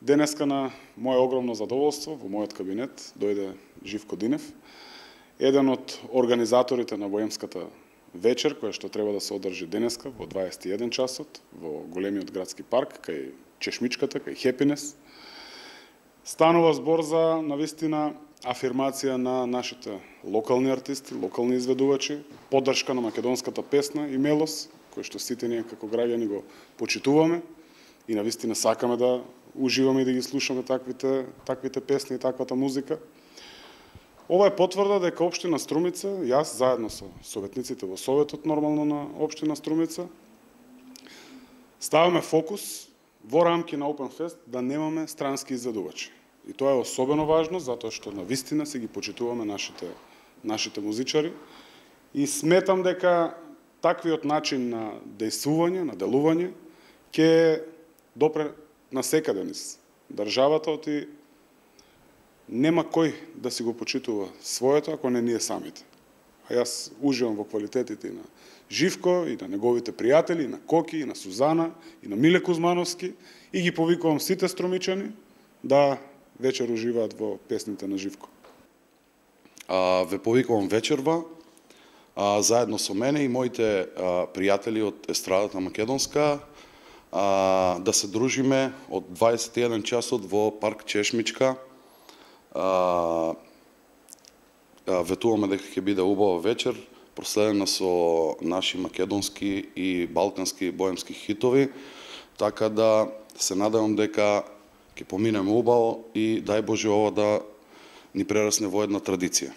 Денеска на моje огромно задоволство во мојот кабинет дојде Живко Динев, еден од организаторите на Боемската вечер, која што треба да се одржи денеска во 21 часот во големиот градски парк кај Чешмичката, кај Хепинес. Станува збор за навистина афирмација на нашите локални артисти, локални изведувачи, поддршка на македонската песна и мелос, кој што сите ние како граѓани го почитуваме и навистина сакаме да уживаме и да ги слушаме таквите песни и таквата музика. Ова е потврда дека општина Струмица, јас заедно со советниците во советот нормално на општина Струмица, ставаме фокус во рамки на Open Fest да немаме странски изведувачи. И тоа е особено важно затоа што навистина се ги почитуваме нашите музичари и сметам дека таквиот начин на дејствување, на делување ќе допре на секаде низ државата, оти нема кој да си го почитува своето ако не ние самите. А јас уживам во квалитетите и на Живко, и на неговите пријатели, и на Коки, и на Сузана, и на Миле Кузмановски, и ги повикувам сите струмичани да вечер уживаат во песните на Живко. Ве повикувам вечерва, заедно со мене и моите пријатели од естрадата македонска, да се дружиме од 21 часот во парк Чешмичка. Ветуваме дека ќе биде убава вечер, проследена со наши македонски и балкански боемски хитови, така да се надевам дека ќе поминеме убаво и дај Боже ова да ни прерасне во една традиција.